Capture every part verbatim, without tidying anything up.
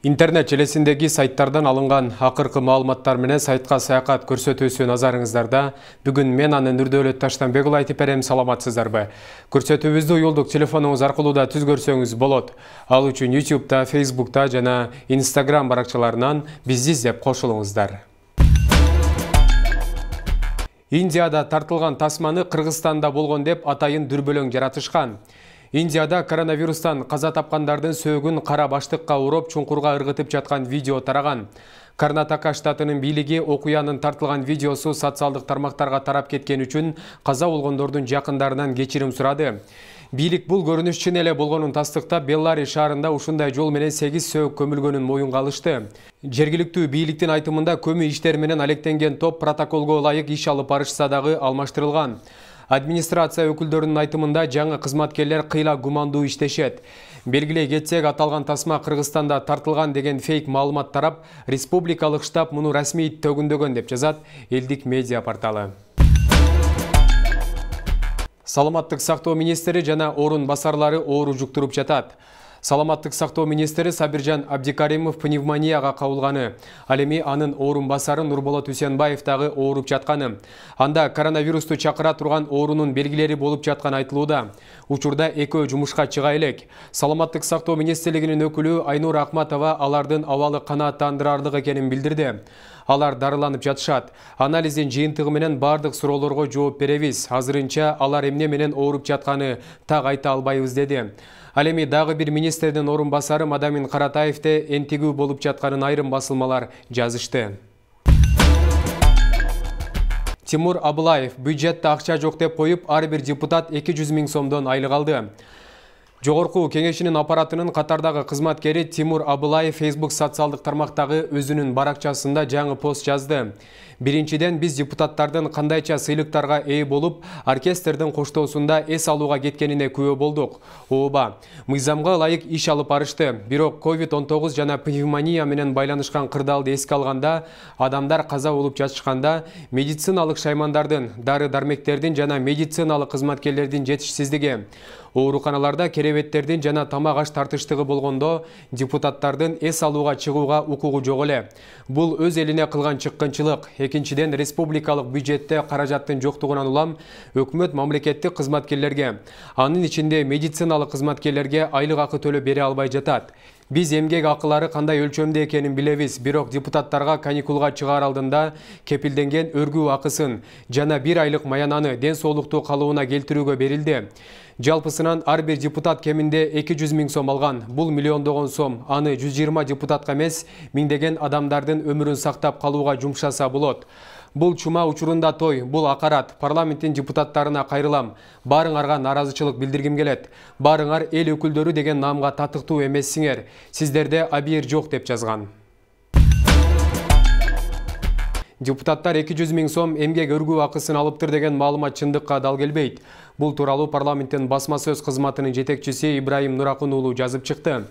Интернет желесиндеги сайттардан алынган акыркы маалыматтар менен сайтка саякат көрсөтүүсү назарыңыздарда. Бүгүн мен аны Нурдөөлөт Таштанбек уулу айтып берем, саламатсыздарбы? Көрсөтүүбүздү уюлдук телефонуңуз аркылуу да түз көрсөңүз болот. Ал үчүн ютубта, фейсбукта жана инстаграм баракчаларынан бизди издеп кошулуңуздар. Индияда тартылган тасманы Кыргызстанда болгон деп атайын дүрбөлөң жаратышкан. Индияда коронавирустан каза тапкандардын сөөгүн кара баштыкка уруп чуңкурга ыргытып жаткан видео тараган. Карнатака штатынын бийлиги окуянын тартылган видеосу социалдык тармактарга тарап кеткен үчүн каза болгондордун жакындарынан кечирим сурады. Бийлик бул көрүнүш чын эле болгонун тастыктап, Беллари шаарында ушундай жол менен сегиз сөөк көмүлгөнүн моюнга алышты. Жергиликтүү бийликтин айтымында көмү иштери менен алектенген топ протоколго ылайык иш алып барышса дагы алмаштырылган. Администрация өкүлдөрүнүн айтымында жаңы кызматкерлер кыйла гумандуу иштешет. Белгилей кетсек, аталган тасма Кыргызстанда тартылган деген фейк маалымат тарап, республикалык штаб муну расмий төгүндөгөн деп жазат элдик медиа порталы. Саламаттык сактоо министри жана орун басарлары оору жуктуруп жатат. Саламаттык сактоо министри Сабиржан Абдикаримов пневмонияга кабылганы. Ал эми анын орун басары Нурболот Үсенбаев дагы ооруп жатканы. Анда коронавирусту чакыра турган оорунун белгилери болуп жатканы айтылууда. Учурда экөө жумушка чыга элек. Саламаттык сактоо министрлигинин өкүлү Айнур Акматова алардын абалы канааттандырарлык экенин билдирди. Алар дарыланып жатышат. Анализдин жыйынтыгы менен бардык суроолорго жооп беребиз. Азырынча алар эмне менен ооруп жатканы так айта албайбыз деди. Ал эми дагы бир министрдин орун басары Мадамин Каратаевде энтигүү болуп жатканын айрым басылмалар жазышты. Тимур Абылаев бюджетте акча жок деп коюп, ар бир депутат эки жүз миң сомдон айлык алды. Жогорку кеңешинин аппаратынын катардагы кызматкери Тимур Абылаев Facebook социалдык тармактагы өзүнүн баракчасында жаңы пост жазды. Биринчиден, биз депутаттардын кандайча сыйлыктарга ээ болуп, оркестрдин коштоосунда эс алууга кеткенине күбө болдук. Ооба, мыйзамга ылайык иш алып барышты. Бирок ковид он тогуз жана пневмония менен байланышкан кырдаалды эске алганда, адамдар каза болуп жатышканда, медициналык шаймандардын, дары-дармектердин жана медициналык кызматкерлердин жетишсиздиги, ооруканаларда керебеттердин жана тамак аш тартыштыгы болгондо депутаттардын эс алууга чыгууга укугу жок эле. Бул өз элине кылган чыккынчылык. Экинчиден, республикалык бюджетте каражаттын жоктугунан улам өкмөт мамлекеттик кызматкерлерге, анын ичинде медициналык кызматкерлерге айлык акы төлөп бере албай жатат. Биз эмгек акылары кандай өлчөмдө экенин билебиз, бирок депутаттарга каникулга чыгаар алдында кепилденген өргүү акысын жана бир айлык маянаны ден соолуктуу калыбына келтирүүгө берилди. Жалпысынан ар бир депутат кеминде эки жүз миң сом алган. Бул миллиондогон сом. Аны жүз жыйырма депутатка эмес, миңдеген адамдардын өмүрүн сактап калууга жумшаса болот. Бул чума учурунда той, бул акарат. Парламенттин депутаттарына кайрылам. Баарыңарга наразычылык билдиргим келет. Баарыңар эл өкүлдөрү деген наамга татыктуу эмессиңер. Сиздерде абийир жок деп жазган. Депутаттар эки жүз миң сом эмгек өргүү акысын алыптыр деген маалымат чындыкка дал келбейт. Бул тууралуу парламенттин басма сөз кызматынын жетекчиси Ибраим Нуракун уулу жазып чыкты.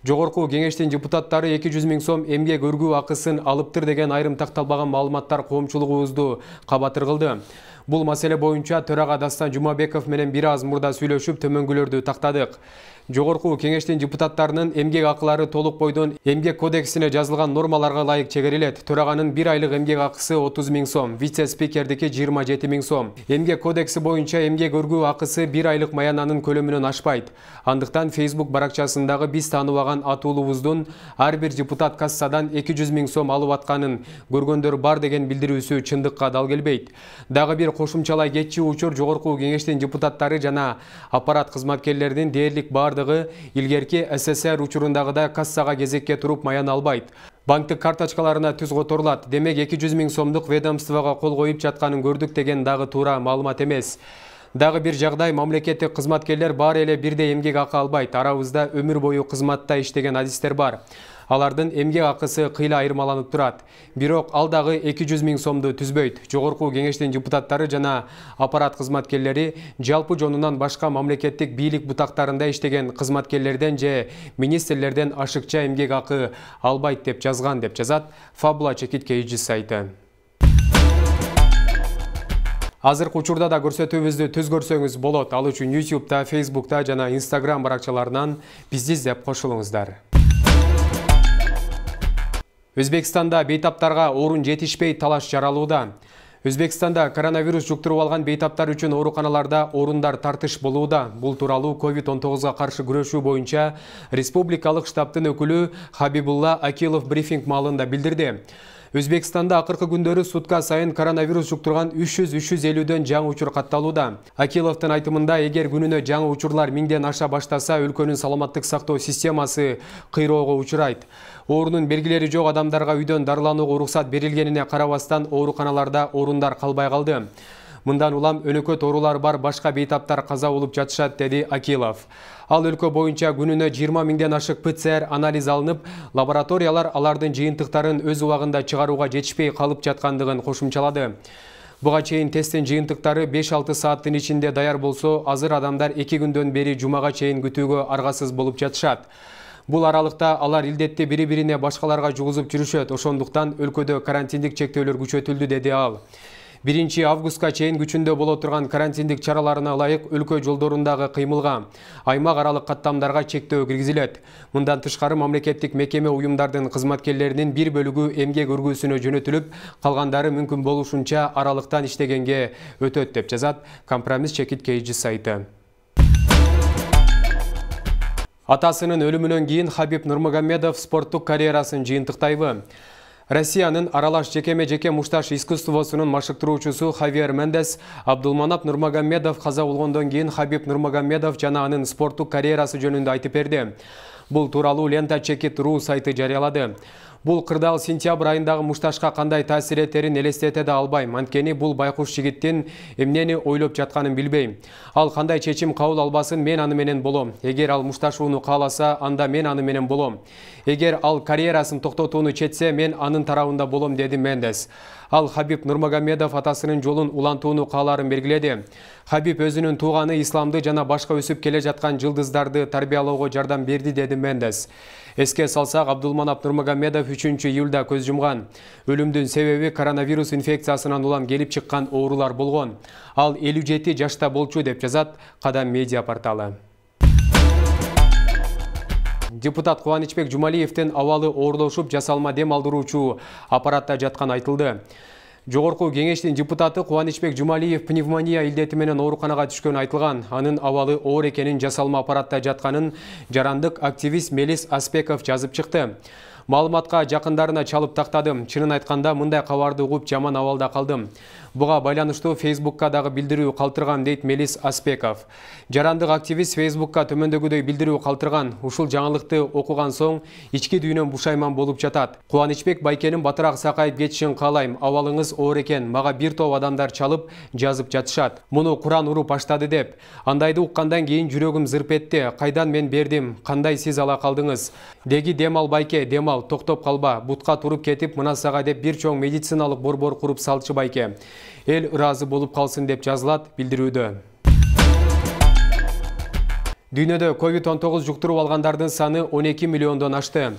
Жогорку кеңештин депутаттары эки жүз миң сом эмгек өргүү акысын алыптыр деген айрым такталбаган маалыматтар коомчулугубузду кабатыр кылды. Бул маселе боюнча төрага Дастан Жумабеков менен бир аз мурда сүйлөшүп төмөнгүлөрдү тактадык. Жогорку кеңештин депутаттарынын эмгек акылары толук бойдон эмгек кодексине жазылган нормаларга ылайык чегерилет. Төраганын бир айлык эмгек акысы отуз миң сом, вице-спикердики жыйырма жети миң сом. Эмгек кодекси боюнча эмгек өргүү акысы бир айлык маянанын көлөмүнөн ашпайт. Андыктан Facebook баракчасындагы биз тааныбаган атуулубуздун ар бир депутат кассадан эки жүз миң сом алып атканын көргөндөр бар деген билдирүүсү чындыкка дал келбейт. Дагы бир кошумчалай кетчү учур жогорку кеңештин депутаттары жана аппарат кызматкерлеринин дээрлик баардыгы илгерки СССР учурундагыдай кассага кезекке туруп маян албайт. Банктык карточкаларына түз которулат. Демек эки жүз миң сомдук ведомствого кол коюп жатканын көрдүк деген дагы туура маалымат эмес. Дагы бир жагдай, мамлекеттик кызматкерлер баары эле бирдей эмгек акы албайт. Арабызда өмүр бою кызматта иштеген адистер бар. Алардын эмгек акысы кыйла айырмаланып турат. Бирок ал дагы эки жүз миң сомду түзбөйт. Жогорку кеңештин депутаттары жана аппарат кызматкерлери жалпы жонунан башка мамлекеттик бийлик бутактарында иштеген кызматкерлерден же министрлерден ашыкча эмгек акы албайт деп жазган деп жазат Фабула Чекит Кейджи сайты. Азыркы учурда да көрсөтүүбүздү түз көрсөңүз болот. Ал үчүн ютубта, фейсбукта жана инстаграм баракчаларынан бизди издеп кошулуңуздар. Өзбекстанда бейтаптарга орун жетишпей талаш жаралууда. Өзбекстанда коронавирус жуктуруп алган бейтаптар үчүн ооруканаларда орундар тартыш болууда. Бул тууралуу ковид он тогузга каршы күрөшүү боюнча республикалык штабтын өкүлү Хабибулла Акилов брифинг маалында билдирди. Өзбекстанда акыркы күндөрү сутка сайын коронавирус жуктурган үч жүз үч жүз элүүдөн жаңы учур катталууда. Акиловдун айтымында, эгер күнүнө жаңы учурлар миңден аша баштаса, өлкөнүн саламаттык сактоо системасы кыйроого учурайт. Оорунун белгилери жок адамдарга үйдөн дарыланууга уруксат берилгенине карабастан ооруканаларда орундар калбай калды. Мындан улам өнөкөт оорулар бар башка бейтаптар каза болуп жатышат, деди Акилов. Ал өлкө боюнча күнүнө жыйырма миңден ашык П Ц Р анализ алынып, лабораториялар алардын жыйынтыктарын өз убагында чыгарууга жетишпей калып жаткандыгын кошумчалады. Буга чейин тесттин жыйынтыктары беш алты сааттын ичинде даяр болсо, азыр адамдар эки күндөн бери жумага чейин күтүүгө аргасыз болуп жатышат. Бул аралыкта алар илдетти бири-бирине башкаларга жугузуп жүрүшөт, ошондуктан өлкөдө карантиндик чектөөлөр күчөтүлдү, деди ал. биринчи августка чейин күчүндө боло турган карантиндик чараларына ылайык өлкө жолдорундагы кыймылга, аймак аралык каттамдарга чектөө киргизилет. Мындан тышкары мамлекеттик мекеме уюмдардын кызматкерлеринин бир бөлүгү эмгек өргүүсүнө жөнөтүлүп, калгандары мүмкүн болушунча аралыктан иштегенге өтөт, деп жазат Компромисс чекит кейжи сайты. Атасынын өлүмүнөн кийин Хабиб Нурмагомедов спорттук карьерасын жыйынтыктайбы? Россиянын аралаш жекеме-жеке мушташ искусствосунун машыктыруучусу Хавьер Мендес Абдулманап Нурмагомедов каза болгондон кийин Хабиб Нурмагомедов жана анын спорттук карьерасы жөнүндө айтып берди. Бул тууралуу лента чекит ру сайты жарыялады. Бул кырдаал сентябрь айындагы мушташка кандай таасир этерин элестете да албайм. Анткени бул байкуш жигиттин эмнени ойлоп жатканын билбейм. Ал кандай чечим кабыл албасын, мен аны менен болом. Эгер ал мушташууну кааласа, анда мен аны менен болом. Эгер ал карьерасын токтотууну четсе, мен анын тарабында болом, деди Мендес. Ал Хабиб Нурмагомедов атасынын жолун улантууну кааларын белгиледи. Хабиб өзүнүн тууганы исламды жана башка өсүп келе жаткан жылдыздарды тарбиялоого жардам берди, деди Мендес. Эске салсак, Абдулманап Нурмагомедов үчүнчү июлда көз жумган. Өлүмдүн себеби коронавирус инфекциясынан улам келип чыккан оорулар болгон. Ал элүү жети жашта болчу, деп жазат Кадам медиа порталы. Депутат Кубанычбек Жумалиевдин абалы оорлошуп, жасалма дем алдыруучу аппаратта жатканы айтылды. Жогорку кеңештин депутаты Кубанычбек Жумалиев пневмония илдети менен ооруканага түшкөнү айтылган. Анын абалы оор экенин, жасалма аппаратта жатканын жарандык активист Мелис Аспеков жазып чыкты. Маалыматка жакындарына чалып тактадым. Чынын айтканда, мындай кабарды угуп жаман абалда калдым. Буга байланыштуу Фейсбукка дагы билдирүү калтыргам, дейт Мелис Аспеков. Жарандык активист Фейсбукка төмөндөгүдөй билдирүү калтырган. Ушул жаңылыкты окуган соң ички дүйнөм бушайман болуп жатат. Кубанычбек байкенин батыраак сакайып кетишин каалайм. Абалыңыз оор экен. Мага бир топ адамдар чалып жазып жатышат. Муну Куран уруп баштады деп. Андайды уккандан кийин жүрөгүм зырп этти. Кайдан мен бердим? Кандай сиз ала калдыңыз? Деги демал байке, демал, токтоп калба. Бутка туруп кетип, мына сага деп бир чоң медициналык борбор куруп салчы байке. Эл ыраазы болуп калсын, деп жазылат билдирүүдө. Дүйнөдө ковид он тогуз жуктуруп алгандардын саны он эки миллиондон ашты.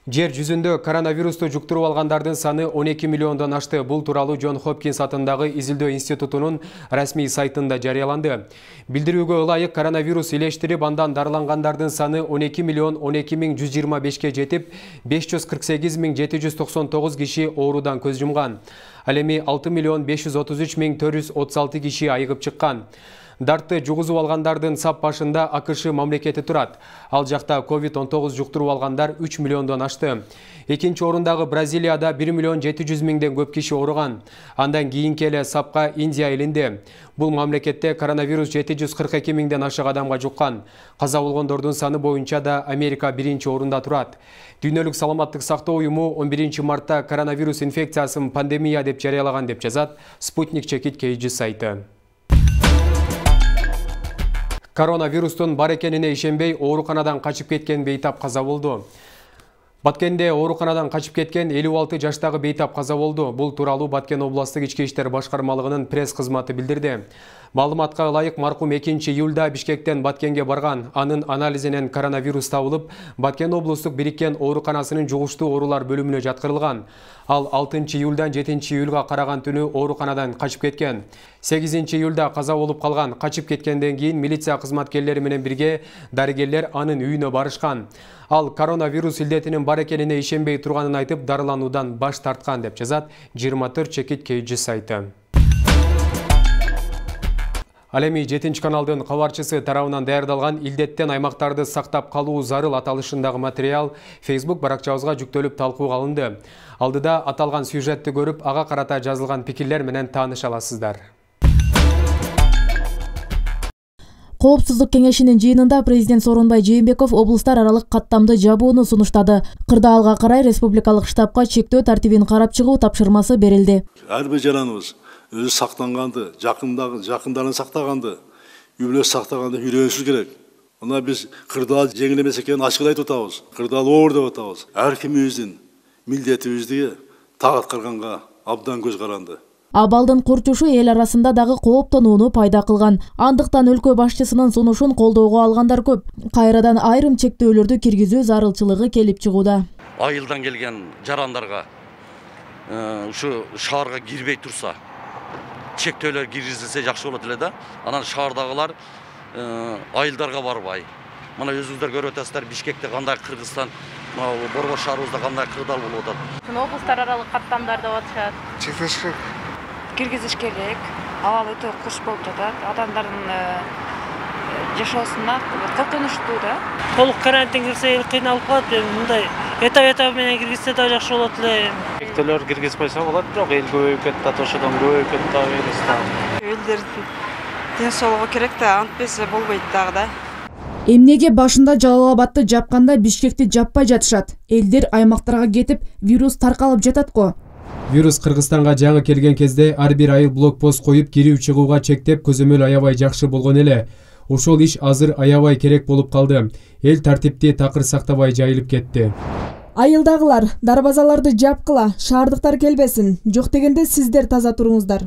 Жер жүзүндө коронавирусту жуктуруп алгандардын саны он эки миллиондон ашты. Бул тууралуу Джон Хопкинс атындагы изилдөө институтунун расмий сайтында жарыяланды. Билдирүүгө ылайык, коронавирус илештирип, андан дарылангандардын саны он эки миллион он эки миң жүз жыйырма бешке жетип, беш жүз кырк сегиз миң жети жүз токсон тогуз киши оорудан көз жумган. Ал эми алты миллион беш жүз отуз үч миң төрт жүз отуз алты киши айыгып чыккан. Дартты жугузуп алгандардын сап башында А К Ш мамлекети турат. Ал жакта ковид он тогуз жуктуруп алгандар үч миллиондон ашты. Экинчи орундагы Бразилияда бир миллион жети жүз миңден көп киши ооруган. Андан кийинки эле сапка Индия элинде. Бул мамлекетте коронавирус жети жүз кырк эки миңден ашык адамга жуккан. Каза болгондордун саны боюнча да Америка биринчи орунда турат. Дүйнөлүк саламаттык сактоо уюму он биринчи мартта коронавирус инфекциясын пандемия деп жарыялаган, деп жазат Спутник чекит кейжи сайты. Коронавирустун бар экенине ишенбей, ооруканадан качып кеткен бейтап каза болду. Баткенде ооруканадан качып кеткен элүү алты жаштагы бейтап каза болду. Бул тууралуу Баткен областык ички иштер башкармалыгынын пресс кызматы билдирди. Маалыматка ылайык, маркум экинчи июлда Бишкектен Баткенге барган. Анын анализинен коронавирус табылып, Баткен облустук бириккен ооруканасынын жугуштуу оорулар бөлүмүнө жаткырылган. Ал алтынчы июлдан жетинчи июлга караган түнү ооруканадан качып кеткен. сегизинчи июлда каза болуп калган. Качып кеткенден кийин милиция кызматкерлери менен бирге дарыгерлер анын үйүнө барышкан. Ал коронавирус илдетинин бар экенине ишенбей турганын айтып, дарылануудан баш тарткан деп жазат жыйырма төрт чекит Кей сайты. Ал эми жетинчи каналдын кабарчысы тарабынан даярдалган илдеттен аймактарды сактап калуу зарыл аталышындагы материал Facebook баракчабызга жүктөлүп талкууга алынды. Алдыда аталган сюжетти көрүп, ага карата жазылган пикирлер менен тааныша аласыздар. Коопсуздук кеңешинин жыйынында президент Сооронбай Жээнбеков облустар аралык каттамды жабууну сунуштады. Кырдаалга карай республикалык штабка чектөө тартибин карап чыгуу тапшырмасы берилди. Ар бир жараныбыз өзү сактанганды, жакындагы жакындарын сактаганды, үй бүлөсү сактаганды үйрөнүшү керек. Мына биз кырдаал жеңил эмес экенин ачык айтып атабыз. Кырдаал оор деп атабыз. Ар кимибиздин милдетибизди так аткарганга абдан көз каранды. Абалдын курчушу эл арасында дагы кооптонууну пайда кылган. Андыктан өлкө башчысынын сунушун колдоого алгандар көп. Кайрадан айрым чектөөлөрдү киргизүү зарылчылыгы келип чыгууда. Айылдан келген жарандарга ушу шаарга кирбей турса, чектөөлөр киргизилсе жакшы болот эле да. Анан шаардагылар айылдарга барбай. Мына өзүңүздөр көрүп атасыздар, Бишкекте кандай Кыргызстан, Борбор шаарыбызда кандай кырдаал болуп атат. Облустар аралык каттамдар деп атышат. Чектеш керек. Киргизиш керек. Абал өтө куш болуп жатат. Адамдардын жашоосуна коркунучтуу да. Толук карантин кирсе эл кыйналып калат. Мындай этап-этап менен киргизсе да жакшы болот эле. Чектөөлөр киргизип койсо болот, бирок эл көбөйүп кетти, ошодон көбөйүп кетти вирустан. Элдердин ден соолугу керек да, антпесе болбойт дагы да. Эмнеге башында Жалал Абадты жапканда Бишкекти жаппай жатышат? Элдер аймактарга кетип, вирус таркалып жатат го. Вирус Кыргызстанга жаңы келген кезде ар бир айыл блокпост коюп кирип чыгууга чектеп көзөмөл аябай жакшы болгон эле. Ошол иш азыр аябай керек болуп калды. Эл тартипти такыр сактабай жайылып кетти. Айылдагылар дарбазаларды жапкыла, шаардыктар келбесин. Жок дегенде сиздер таза туруңуздар.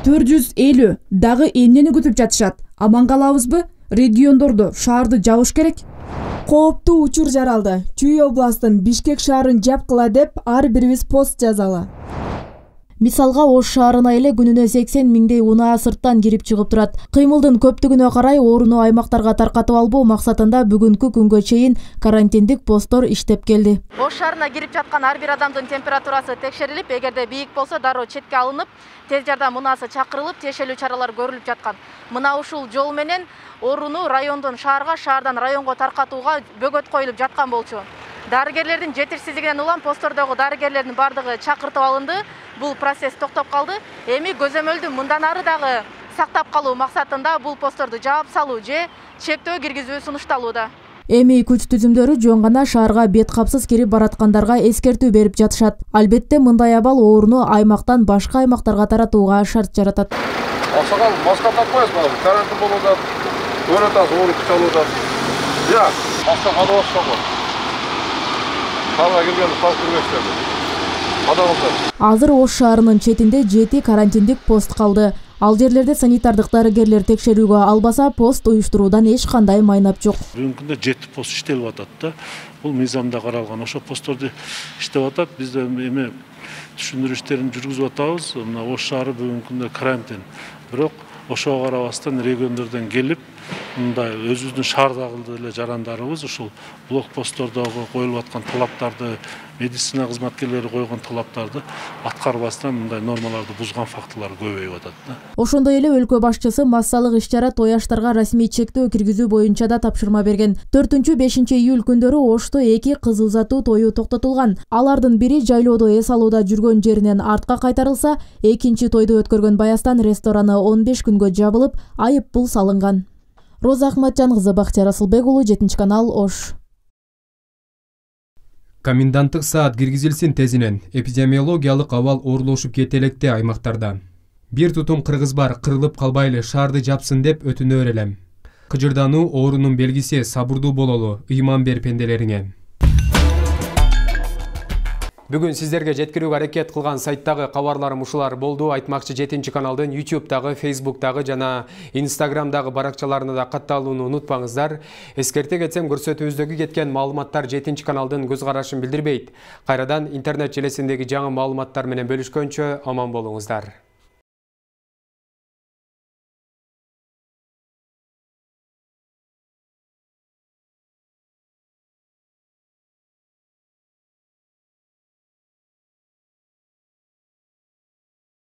төрт жүз элүү дагы эмнени күтүп жатышат? Аман калабызбы? Региондорду, шаарды жабыш керек. Кооптуу учур жаралды. Чүй областын Бишкек шаарын жапкыла деп ар бирибиз пост жазалы. Мисалга Ош шаарына эле күнүнө сексен миңдей унаа сырттан кирип чыгып турат. Кыймылдын көптүгүнө карай ооруну аймактарга таркатып албоо максатында бүгүнкү күнгө чейин карантиндик посттор иштеп келди. Ош шаарына кирип жаткан ар бир адамдын температурасы текшерилип, эгерде бийик болсо дароо четке алынып, тез жардам унаасы чакырылып, тиешелүү чаралар көрүлүп жаткан. Мына ушул жол менен ооруну райондон шаарга, шаардан районго таркатууга бөгөт коюлуп жаткан болчу. Дарыгерлердин жетишсиздигинен улам посттордогу дарыгерлердин бардыгы чакыртып алынды. Бул процесс токтоп калды. Эми көзөмөлдү мындан ары дагы сактап калуу максатында бул постторду жаап салуу же чектөө киргизүү сунушталууда. Эми күч түзүмдөрү жөн гана шаарга бет капсыз кирип бараткандарга эскертүү берип жатышат. Албетте мындай абал ооруну аймактан башка аймактарга таратууга шарт жаратат. Аксакал маска такпайсыз ба? Карантин болуп атат. Көрүп атасыз, ооруп чалып атат. Я, маска калып атат. Шаарга келгенди салып кирбешти. Азыр Ош шаарынын четинде жети карантиндик пост калды. Ал жерлерде санитардык дарыгерлер текшерүүгө албаса, пост уюштуруудан эч кандай майнап жок. Бүгүнкү күндө жети пост иштелип атат да. Бул мыйзамда каралган. Ошо постторду иштеп атат. Биз да эми түшүндүрүү иштерин жүргүзүп атабыз. Мына Ош шаары бүгүнкү күндө карантин. Бирок ошого карабастан региондордон келип, мындай өзүбүздүн шаардагы эле жарандарыбыз ушул блокпосттордогу коюлуп аткан талаптарды, медицина кызматкерлери койгон талаптарды аткарбастан мындай нормаларды бузган фактылар көбөйүп атат да. Ошондой эле өлкө башчысы массалык иш-чара тояштарга расмий чектөө киргизүү боюнча да тапшырма берген. төртүнчү бешинчи июль күндөрү Ошто эки кыз узатуу тою токтотулган. Алардын бири жайлоодо эс алууда жүргөн жеринен артка кайтарылса, экинчи тойду өткөргөн Баястан рестораны он беш күнгө жабылып, айып пул салынган. Роза Ахматжан кызы, Бактияр Асылбек уулу, жетинчи канал, Ош. Коменданттык саат киргизилсин тезинен. Эпидемиологиялык абал оорлошуп кетелекте аймактарда. Бир тутум кыргыз бар, кырылып калбайлы, шаарды жапсын деп өтүнөр элем. Кыжырдануу оорунун белгиси, сабырдуу бололу, ыйман бер пенделериңе. Бүгүн сиздерге жеткирүүгө аракет кылган сайттагы кабарларым ушулар болду. Айтмакчы жетинчи каналдын YouTube-дагы, Facebook-дагы жана Instagram-дагы баракчаларына да катталууну унутпаңыздар. Эскерте кетсем, көрсөтүүбүздөгү кеткен маалыматтар жетинчи каналдын көз карашын билдирбейт. Кайрадан интернет желесиндеги жаңы маалыматтар менен бөлүшкөнчө аман болуңуздар.